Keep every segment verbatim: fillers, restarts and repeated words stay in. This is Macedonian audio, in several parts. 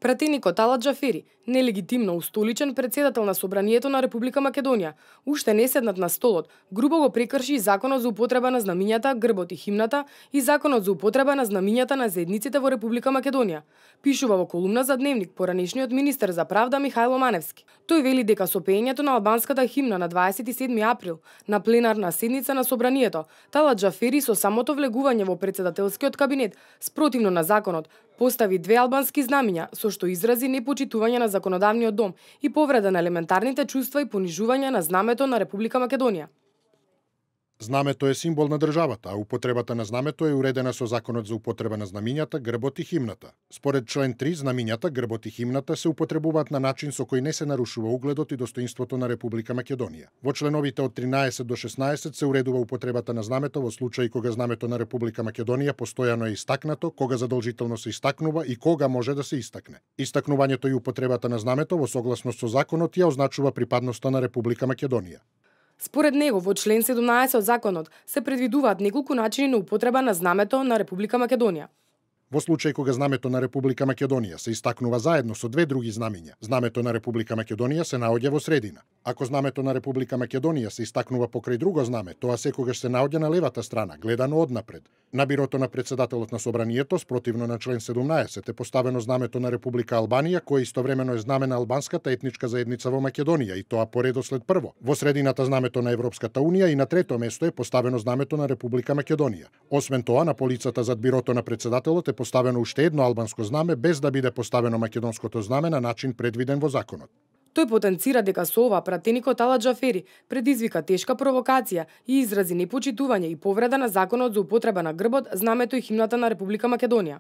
Пратеникот Ала Џафери, нелегитимно устоличен председател на Собранието на Република Македонија, уште не седнат на столот, грубо го прекрши Законот за употреба на знамињата, грбот и химната и Законот за употреба на знамињата на заедниците во Република Македонија, пишува во колумна за Дневник поранешниот министер за правда Михајло Маневски. Тој вели дека со пеењето на албанската химна на дваесет и седми април на пленарна седница на Собранието, Ала Џафери со самото влегување во председателскиот кабинет, спротивно на законот, постави две албански знамиња, со што изрази непочитување на законодавниот дом и повреда на елементарните чувства и понижување на знамето на Република Македонија. Знамето е символ на државата, а употребата на знамето е уредена со Законот за употреба на знамињата, грбот и химната. Според член три, знамињата, грбот и химната се употребуваат на начин со кој не се нарушува угледот и достоинството на Република Македонија. Во членовите од тринаесет до шеснаесет се уредува употребата на знамето во случаи кога знамето на Република Македонија постојано е истакнато, кога задолжително се истакнува и кога може да се истакне. Истакнувањето и употребата на знамето во согласност со законот ја означува припадноста на Република Македонија. Според него, во член седумнаесет од законот се предвидуваат неколку начини на употреба на знамето на Република Македонија. Во случај кога знамето на Република Македонија се истакнува заедно со две други знамиња, знамето на Република Македонија се наоѓа во средина. Ако знамето на Република Македонија се истакнува покрај друго знаме, тоа секогаш се наоѓа на левата страна, гледано однапред. На бирото на председателот на Собранието, спротивно на член седумнаесет, е поставено знамето на Република Албанија, кое истовремено е знаме на албанската етничка заедница во Македонија, и тоа по редослед прво. Во средината знамето на Европската унија и на трето место е поставено знамето на Република Македонија. Освен тоа, на полицата зад бирото на председателот е поставено уште едно албанско знаме, без да биде поставено македонското знаме на начин предвиден во законот. Тој потенцира дека со ова пратеникот Ала Џафери предизвика тешка провокација и изрази непочитување и повреда на Законот за употреба на грбот, знамето и химната на Република Македонија.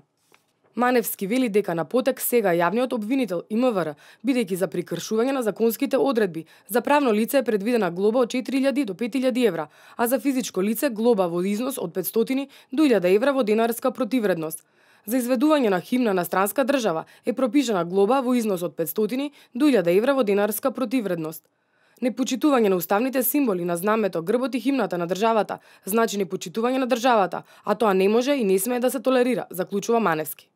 Маневски вели дека на потек сега јавниот обвинител И М В Р, бидејќи за прекршување на законските одредби, за правно лице е предвидена глоба од четири илјади до пет илјади евра, а за физичко лице глоба во износ од петстотини до илјада евра во денарска противредност. За изведување на химна на странска држава е пропишана глоба во износ од петстотини до илјада евра во денарска противредност. Непочитување на уставните символи на знамето, грбот и химната на државата значи непочитување на државата, а тоа не може и не смее да се толерира, заклучува Маневски.